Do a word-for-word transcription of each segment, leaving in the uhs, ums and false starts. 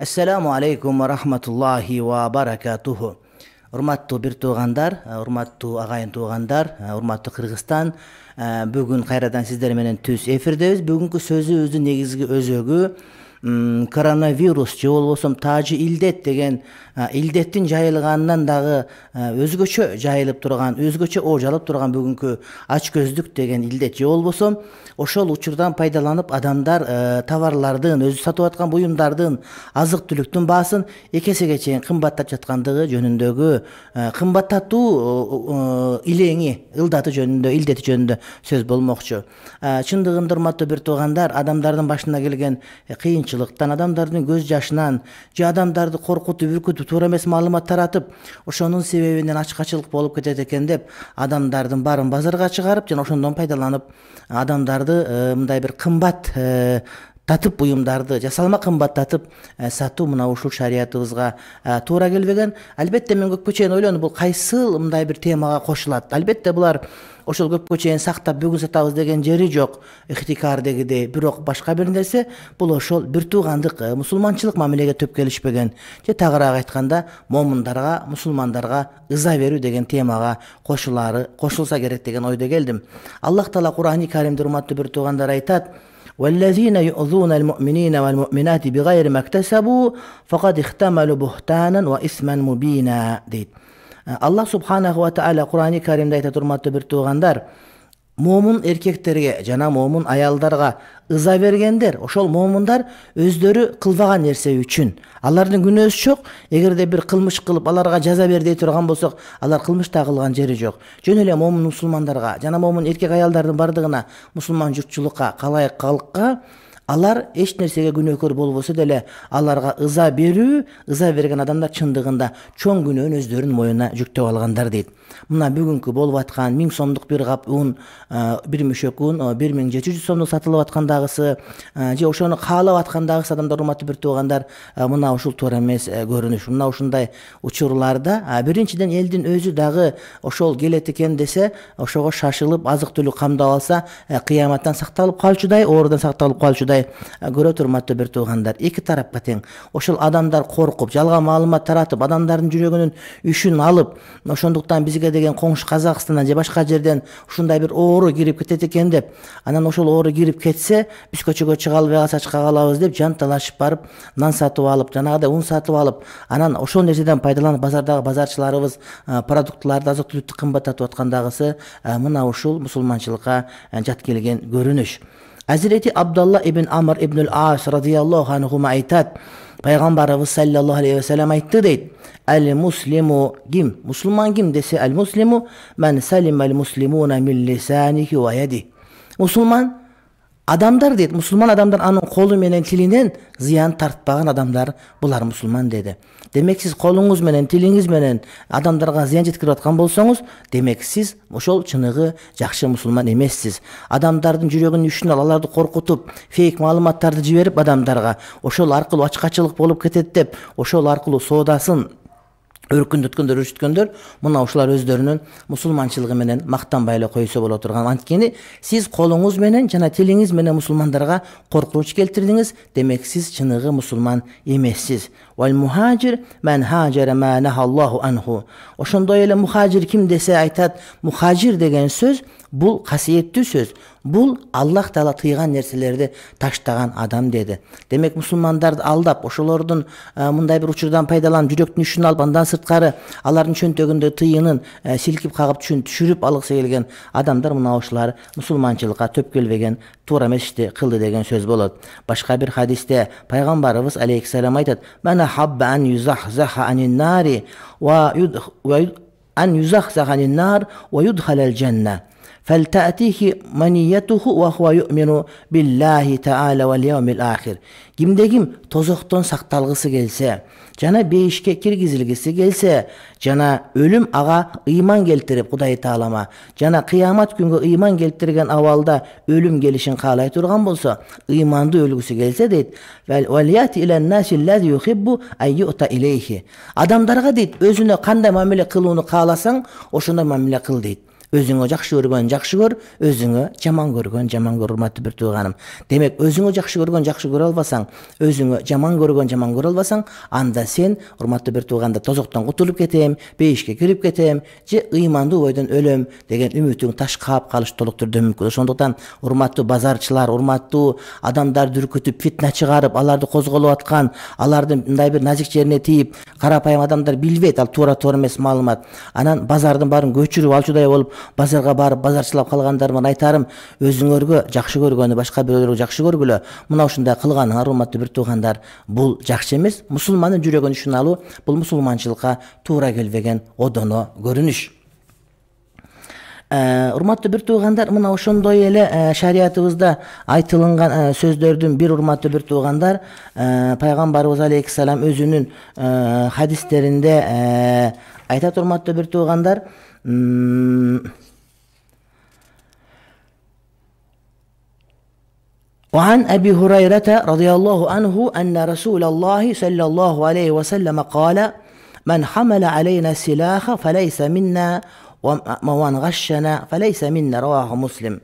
Ассаламу алейкум ва рахматуллахи ва баракатуху. Урматтуу бир туугандар, урматтуу агайын туугандар, урматтуу Кыргызстан, бүгүн кайрадан сиздер менен түз эфирдебиз. Бүгүнкү сөзүбүздүн негизги өзөгү коронавирус же болбосо таажы илдет деген илдеттин жайылганынан дагы өзгөчө жайылып турган, өзгөчө ооч алып турган бүгүнкү ач көздүк деген илдет же болбосо ошол учурдан пайдаланып адамдар товарлардын, өзү сатып аткан буюмдардын, азык түлүктүн баасын эки эсеге чейин кымбаттап жаткандыгы жөнүндөгү кымбаттатуу илеңи, ылдаты жөнүндө, илдети жөнүндө сөз болмокчу. Чындыгында урматтуу бир туугандар, адамдардын башына келген кыйынчылыктан, адамдардын көз жашынан же адамдарды коркутуп, үркүтүп, туура эмес маалымат таратып, ошонун себебинен ачкачылык болуп кетет экен деп адамдардын баарын базарга чыгарып, жана ошондон пайдаланып адамдарды мындай бир кымбат татып буюмдарды, жасалма кымбаттатып сатуу мына ушул шариятыбызга туура келбеген. Албетте мен көпкө чейин ойлондум, бул кайсыл мындай бир темага кошулат. Албетте булар ошол көпкө чейин сактап бүгүн сатабыз деген жери жок, ихтикар дегидей. Бирок башка бир нерсе, бул ошол бир туугандык, мусулманчылык мамилеге төп келишпеген. Же тагыраак айтканда, момундарга, мусулмандарга ыза берүү деген темага кошулары, кошулса керек деген ойдо келдим. Аллах Таала Кур'ани Каримде урматтуу бир туугандар айтат: وَالَّذِينَ يُؤْذُونَ الْمُؤْمِنِينَ وَالْمُؤْمِنَاتِ بِغَيْرِ مَا اكْتَسَبُوا فَقَدِ احْتَمَلُوا بُهْتَانًا وَإِثْمًا مُبِينًا дейт. Аллах субханаху ва тааля Кур'ани Каримде айтат, урматтуу бир туугандар, момун эркектерге жана момун аялдарга ыза бергендер, ошол момундар өздөрү кылбаган нерсе үчүн, алардын күнөөсү жок. Эгерде бир кылмыш кылып аларга жаза бер дей турган болсок, алар кылмыш да кылган жери жок. Жөн эле момун мусулмандарга жана момун эркек аялдардын бардыгына, мусулман журтчулукка, калайык калкка алар эч нерсеге күнөөкөр болбосо деле аларга ыза берүү, ыза берген адамдар чындыгында чоң күнөөнү өздөрүнүн моюна жүктөп алгандар дейт. Мына бүгүнкү болуп аткан миң сомдук бир кап ун, бир мөшөк ун бир миң жети жүз сомдук сатылып аткандагысы, же ошону каалап аткандагысы адамдар, урматтуу бир туугандар, мына ушул туура эмес көрүнүш. Мына ушундай учурларда биринчиден элдин өзү дагы ошол келет экен десе, ошого шашылып азык түлүк камдап алса, кыяматтан сакталып калчудай, оорудан сакталып калчудай көрөт, урматтуу бир туугандар. Эки тарапка тең. Ошол адамдар коркуп, жалган маалымат таратып, адамдардын жүрөгүнүн үшүн алып, ошондуктан бизге деген коңшу Казакстандан же башка жерден ушундай бир оору кирип кетет экен деп, анан ошол оору кирип кетсе, биз көчөгө чыга албай калсак чыга калабыз деп жанталашып барып, нан сатып алып, жанагыдай ун сатып алып, анан ошол нерседен пайдаланып базардагы базарчыларыбыз продуктларды, азык түлүктү кымбаттатып аткандагысы мына ушул мусулманчылыкка жат келген көрүнүш. Азирети Абдалла ибн Амр ибн ал-Ас радияллаху анху айтат, пайгамбарыбыз саллаллаху алейхи ва саллям айтты дейт: «Ал-муслиму ким? Мусулман ким десе, ал-муслиму ман салима ал-муслимуна мин лисанихи ва яди». Мусулман адамдар дейт, мусулман адамдар анын колу менен тилинен зыян тартпаган адамдар, булар мусулман деди. Демек сиз колуңуз менен, тилиңиз менен адамдарга зыян жеткирип аткан болсоңуз, демек сиз ошол чыныгы жакшы мусулман эмессиз. Адамдардын жүрөгүнүн үшүн алып, аларды коркутуп, фейк маалыматтарды жиберип адамдарга, ошол аркылуу ачкачылык болуп кетет деп, ошол аркылуу соодасын өркүндөткөндөр, өрүшүткөндөр, мына ушулар өздөрүнүн мусулманчылыгы менен мактанбай эле койсо боло турган. Анткени сиз колуңуз менен жана тилиңиз менен мусулмандарга коркунуч келтирдиңиз, демек сиз чыныгы мусулман эмессиз. Вал мухажир ман хаджара ма нахаллаху анху. Ошондой эле мухажир ким десе айтат, мухажир деген сөз бул касиеттүү сөз. Бул Аллах Таала тыйган нерселерди таштаган адам деди. Демек мусулмандарды алдап, ошолордун мындай бир учурдан пайдаланып, жүрөктүн үшүн алып, андан сырткары алардын чөнтөгүндө тыйынын силкип кагып түшүн түшүрүп алгысы келген адамдар, мына ошолар мусулманчылыкка төп келбеген, туура эмес ишти кылды деген сөз болот. Башка бир хадисте пайгамбарыбыз алейхиссалам айтат: "Мана хабба ан юзахзаха анин нари ва ан юзахзаха анин нар ва юдхалал жанна. فَلْتَأْتِهِ مَنِيَّتُهُ وَهُوَ يُؤْمِنُ بِاللَّهِ تَعَالَى وَالْيَوْمِ الْآخِرِ». Кимде ким тозоктон сакталгысы келсе, жана бейишке киргизилгиси келсе, жана өлүм ага ыйман келтирип, Кудай Таалама, жана кыямат күнгө ыйман келтирген абалда өлүм келишин каалай турган болсо, ыймандуу өлгүсү келсе дейт, «Валияти илан наси аллази юхиббу ан юта илейхи». Адамдарга дейт, өзүнө кандай мамиле кылууну кааласаң, ошондой мамиле кыл дейт. Өзүңө жакшы көргөн жакшы көр, өзүңө жаман көргөн жаман көр, урматтуу бир тууганым. Демек, өзүңө жакшы көргөн жакшы көрө албасаң, өзүңө жаман көргөн жаман көрө албасаң, анда сен, урматтуу бир тууганда, тозоктон кутулуп кетем, бейишке кирип кетем, же ыймандуу бойдон өлөм деген үмүтүң ташкап калыш толук түрдө мүмкүн. Ошондуктан, урматтуу базарчылар, урматтуу адамдарды үркүтүп, фитна чыгарып, аларды козголоп аткан, алардын мындай бир назик жерине тийип, карапайым адамдар билбейт, ал туура туура эмес маалымат. Анан базардын баарын көчүрүп алчудай болуп, базарга барып базарчылап калгандарыман айтарым, өзүңөргө жакшы көргөнү башка бирөөлөргө жакшы көргүлө. Мына ушундай кылганыңар, урматтуу бир туугандар, бул жакшы эмес. Мусулмандын жүрөгүн ушуналуу, бул мусулманчылыкка туура келбеген одоно көрүнүш. Урматтуу бир туугандар, мына ошондой эле шариятыбызда айтылган сөздөрдүн бир, урматтуу бир туугандар, пайгамбарыбыз алейхиссалам өзүнүн хадистеринде айтат, урматтуу бир туугандар, وعن أبي هريرة رضي الله عنه أن رسول الله صلى الله عليه وسلم قال من حمل علينا السلاح فليس منا ومن غشنا فليس منا رواه مسلم.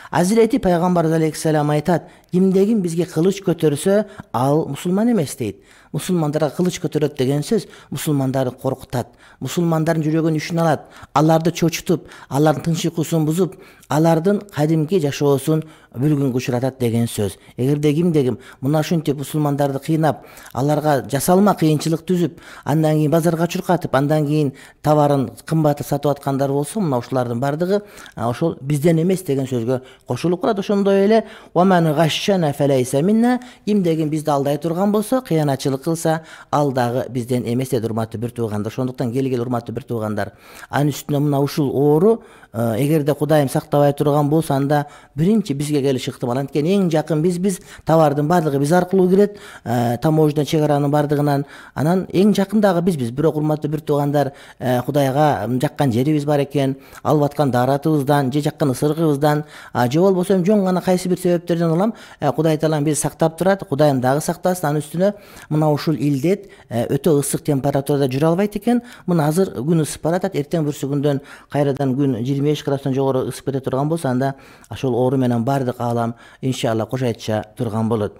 Азирети пайгамбарыбыз алейхиссалам айтат, кимдегин бизге кылыч көтөрсө, ал мусулман эмес дейт. Мусулмандарга кылыч көтөрөт деген сөз мусулмандарды коркутат, мусулмандардын жүрөгүн үшүн алат, аларды чочутуп, алардын тынч уйкусун бузуп, алардын кадимки жашоосун бүлгүнгө учуратат деген сөз. Эгерде кимдегим мына ушинтип мусулмандарды кыйнап, аларга жасалма кыйынчылык түзүп, андан кийин базарга чуркатып, андан кийин товарын кымбатты сатып аткандар болсо, мына ушулардын бардыгы ошол бизден эмес деген сөзгө кошулуп калат. Ошондой эле وَمَنْ غَشَّنَا فَلَيْسَ مِنَّا, кимдегин бизди алдай турган болсо, кыянатчылык кылса, ал дагы бизден эмес деди, урматтуу бир туугандар. Ошондуктан келгил, урматтуу бир туугандар, анын үстүнө мына ушул оору эгерде Кудайым сактабай турган болсо, анда биринчи бизге келиш ыктымал. Анткени эң жакын бизбиз, товардын бардыгы биз аркылуу кирет, таможня чек аранын бардыгынан, анан эң жакын дагы бизбиз. Бирок урматтуу бир туугандар, Кудайга жаккан жерибиз бар экен, алып аткан дааратыбыздан, же жаккан ысырыгыбыздан, же болбосо жөн гана кайсы бир себептерден улам Кудай Таалам бизди сактап турат, Кудайым дагы сактасын. Анын үстүнө мына ушул илдет өтө ысык температурада жүрө албайт экен. Мына азыр күн ысып баратат, эртең бүрсүгүндөн кайрадан күн жыйырма беш градустан жогору ысып кете турган болсо, анда ошол оору менен баардык аалам иншалла кошайтча турган болот.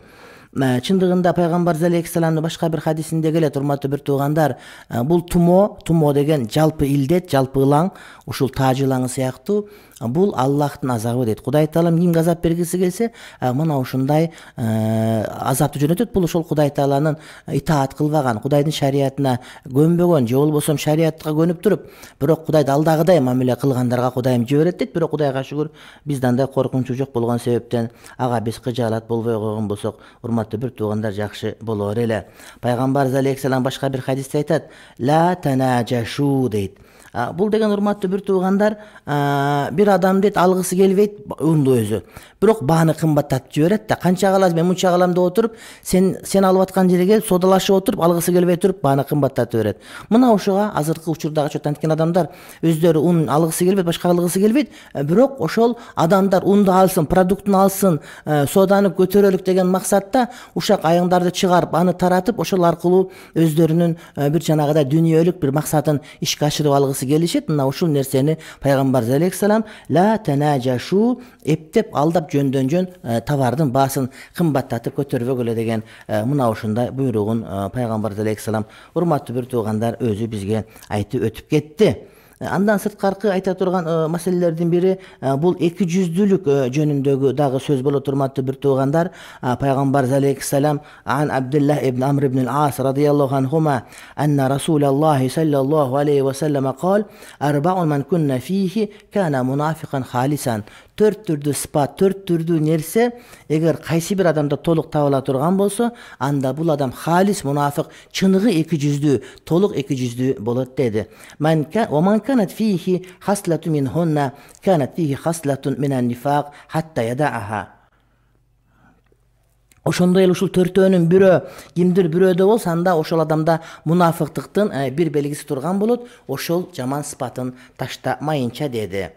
Чындыгында пайгамбарыбыз алейхиссаламдын башка бир хадисинде келет, урматтуу бир туугандар, бул тумо, тумо деген жалпы илдет, жалпы ылаң, ушул тааж ылаңы сыяктуу, бул Аллахтын азабы дейт. Кудай Таалам кимге азап бергиси келсе, мына ушундай азапты жөнөтөт. Бул ошол Кудай Тааланын итаат кылбаган, Кудайдын шариятына көнбөгөн, же болбосо шариятка көнүп туруп, бирок Кудайды алдагыдай мамиле кылгандарга Кудайым жиберет дейт. Бирок Кудайга шүгүр, бизден андай коркунучу жок болгон себептен ага биз кыжаалат болбой койгон болсок, урматтуу бир туугандар, жакшы болор эле. Пайгамбарыбыз алейхиссалам башка бир хадисте айтат, ла танаджашу дейт. Бул деген, урматтуу бир туугандар, бир адам дейт алгысы келбейт унду өзү. Бирок бааны кымбаттатып жиберет да, канча каласыз, мен мынча калам деп отуруп, сен сен алып аткан жерге келип содалашып отуруп, алгысы келбей туруп бааны кымбаттатып берет. Мына ошого азыркы учурдагы чөт анткен адамдар өздөрү ун алгысы келбейт, башка алгысы келбейт, бирок ошол адамдар унду алсын, продуктун алсын, соданы көтөрөлүк деген максатта ушак айыңдарды чыгарып, аны таратып, ошол аркылуу өздөрүнүн бир жанагыдай дүйнөлүк бир максатын ишке ашырып алгысы келишет. Мына ушул нерсени пайгамбарыбыз алейхиссалам ла танаджашу, эптеп алдап жөндөн жөн товардын баасын кымбаттатып көтөрбөгүлө деген мына ушундай буйругун пайгамбарыбыз алейхиссалам, урматтуу бир туугандар, өзү бизге айтып өтүп кетти. Андан сырткаркы айта турган маселелердин бири бул эки жүздүүлүк жөнүндөгү дагы сөз болот, урматтуу бир туугандар. Пайгамбарыбыз алейхиссалам ан Абдуллах ибн Амр ибн ал-Ас радияллаху анхума анна Расулаллахи саллаллаху алейхи ва саллам кал арба'у ман кунна фихи кана мунафикан халисан. Төрт түрдүү сыпат, төрт түрдүү нерсе эгер кайсы бир адамда толук табыла турган болсо, анда бул адам халис мунафик, чыныгы эки жүздүү, толук эки жүздүү болот деди. Ман канат фихи хаслату минхунна канат фихи хаслатун минан нифак хатта ядааха. Ошондой эле ушул төртөөнүн бирөө кимдир бирөөдө болсо, анда ошол адамда мунафыктыктын бир белгиси турган болот, ошол жаман сыпатын таштамайынча деди.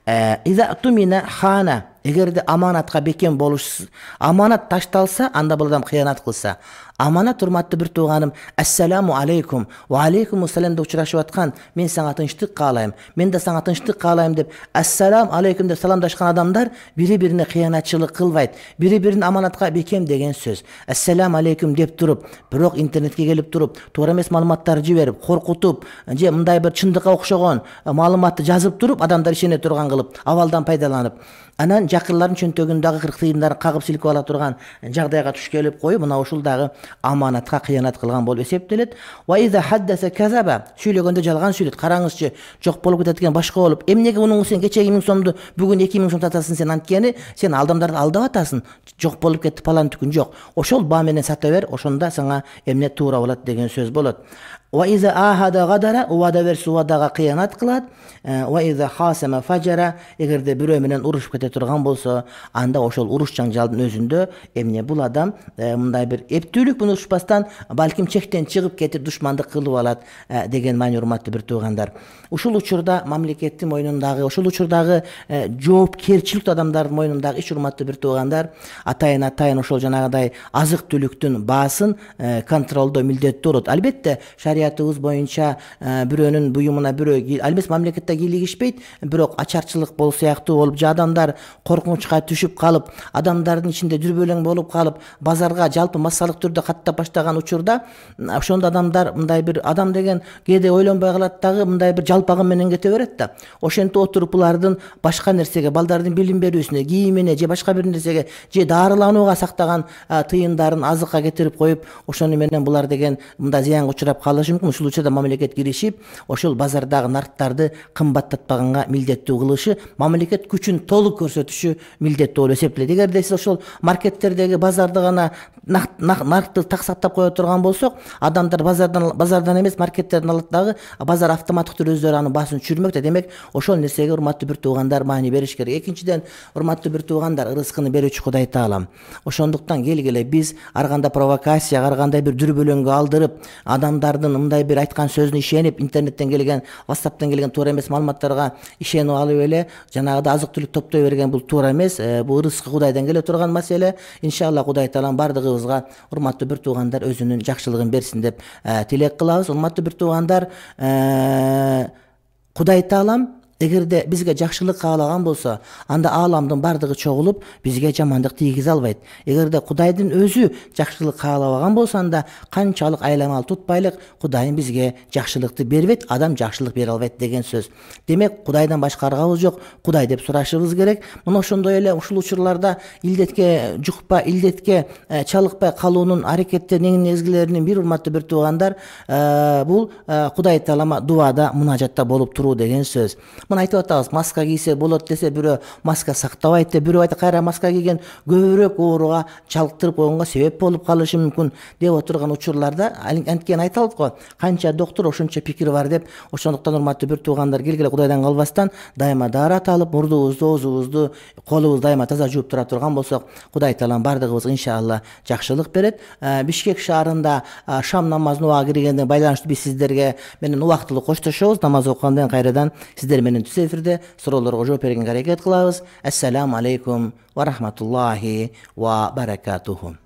Иза тумина хана, эгерде аманатка бекем болуш, аманат ташталса, анда бул адам кыянат кылса, Аманат, урматтуу бир тууганым, ассаламу алейкум, ва алейкум ассалам деп учурашып аткан, мен сага тынчтык каалайм, мен да сага тынчтык каалайм деп ассалам алейкум деп саламдашкан адамдар бири-бирине кыянатчылык кылбайт, бири-бирин аманатка бекем деген сөз. Ассалам алейкум деп туруп, бирок интернетке келип туруп, туура эмес маалыматтарды жиберип, коркутуп, же мындай бир чындыкка окшогон маалыматты жазып туруп, адамдар ишене турган кылып, абалдан пайдаланып, анан жакырлардын чөнтөгүн дагы кырк тыйындарын кагып силкип ала турган жагдайга туш келип коюп, мына ушул дагы аманатка кыянат кылган болуп эсептелет. Ва иза хаддаса казаба, сүйлөгөндө жалган сүйлөт. Караңызчы, жок болуп кетет экен, башка болуп. Эмнеге мунун сен кечеги миң сомду бүгүн эки миң сом сатасың, сен анткени сен адамдарды алдап атасың. Жок болуп кетти палан түкүн жок. Ошол баа менен сата бер, ошондо сага эмне туура болот деген сөз болот. Ва иза ахада гадара, уада берсе уадага кыянат кылат. Ва иза хасама фажара, эгерде бирөө менен урушуп кете турган болсо, анда ошол уруш жаңжалдын өзүндө эмне бул адам мындай бир эптүүлүк менен урушпастан балким чектен чыгып кетип душмандык кылып алат деген маани, урматтуу бир туугандар. Ушул учурда мамлекеттин мойнундагы, ошол учурдагы жоопкерчиликтүү адамдардын мойнундагы иш, урматтуу бир туугандар, атайын атайын ошол жанагыдай азык түлүктүн баасын контролдоо милдеттүү болот. Албетте шариятыбыз боюнча бирөөнүн буюмуна бирөө албетте мамлекетте кийлигишпейт, бирок ачарчылык болуу сыяктуу болуп, же адамдар коркунучка түшүп калып, адамдардын ичинде дүрбөлөң болуп калып, базарга жалпы массалык түрдө каттап баштаган учурда, ошондо адамдар мындай бир адам деген кээде ойлонбой калат дагы, мындай бир жалпагын менен кете берет да. Ошентип отуруп булардын башка нерсеге, балдардын билим берүүсүнө, кийимине же башка бир нерсеге, же дарыланууга сактаган тыйындарын азыкка кетирип коюп, ошону менен булар деген мындай зыянга учурап калышы мүмкүн. Ушул учурда мамлекет киришип, ошол базардагы нарктарды кымбаттатпаганга милдеттүү кылышы, мамлекет күчүн толук көрсөтүшү милдеттүү болуп эсептелет. Эгерде сиз ошол маркеттердеги базарды гана наркты так сактап кое турган болсок, адамдар базардан базардан эмес маркеттерден алат дагы, базар автоматтык түрдө өздөрү анын баасын түшүрмөк да. Демек, ошол нерсеге урматтуу бир туугандар маани бериш керек. Экинчиден, урматтуу бир туугандар, рызкыны берүүчү Кудай Таалам. Ошондуктан келгиле биз ар кандай провокацияга, ар кандай бир дүрбөлөңгө алдырып, адамдардын мындай бир айткан сөзүнө ишенип, интернеттен келген, WhatsApp'тан келген туура эмес маалыматтарга ишенип алып эле жанагыда азык түлүк топтой берген, бул туура эмес. Бул рызкы Кудайдан келе турган маселе. Иншалла Кудай Таалам бардыгыбызга, урматтуу бир туугандар, өзүнүн жакшылыгын берсин деп тилек кылабыз. Урматтуу бир туугандар, Кудай Таалам эгерде бизге жакшылык каалаган болсо, анда ааламдын бардыгы чогулуп бизге жамандык тийгизе албайт. Эгерде Кудайдын өзү жакшылык каалабаган болсо, анда канчалык айламал тутпайлык, Кудайым бизге жакшылыкты бербейт, адам жакшылык бере албайт деген сөз. Демек, Кудайдан башка аргабыз жок, Кудай деп сурашыбыз керек. Мына ошондой эле ушул учурларда илдетке жукпа, илдетке чалыкпай калуунун аракеттеринин негизгилеринин бири, урматтуу бир туугандар, бул Кудай Таалама дуада, мунажатта болуп туруу деген сөз. Мына айтып атабыз, маска кийсе болот десе, бирөө маска сактабайт деп, бирөө айтат, кайра маска кийген көбүрөөк ооруга чалыктырып койгонго себеп болуп калышы мүмкүн деп отурган учурларда, анткени айталат го, канча доктор ошончо пикири бар деп. Ошондуктан урматтуу бир туугандар, келгиле Кудайдан калбастан дайыма даарат алып, мурдубузду, оозубузду, колубузду дайыма таза жууп тура турган болсок, Кудай Таалам бардыгыбызга иншалла жакшылык берет. Бишкек шаарында шам намазына убагы киргенден байланыштуу биз сиздерге менен убактылуу коштошобуз. Намаз окугандан кайрадан сиздер менен түз эфирде суроолорго жооп бергенге аракет кылабыз. Ассаламу алейкум ва рахматуллахи ва баракатуху.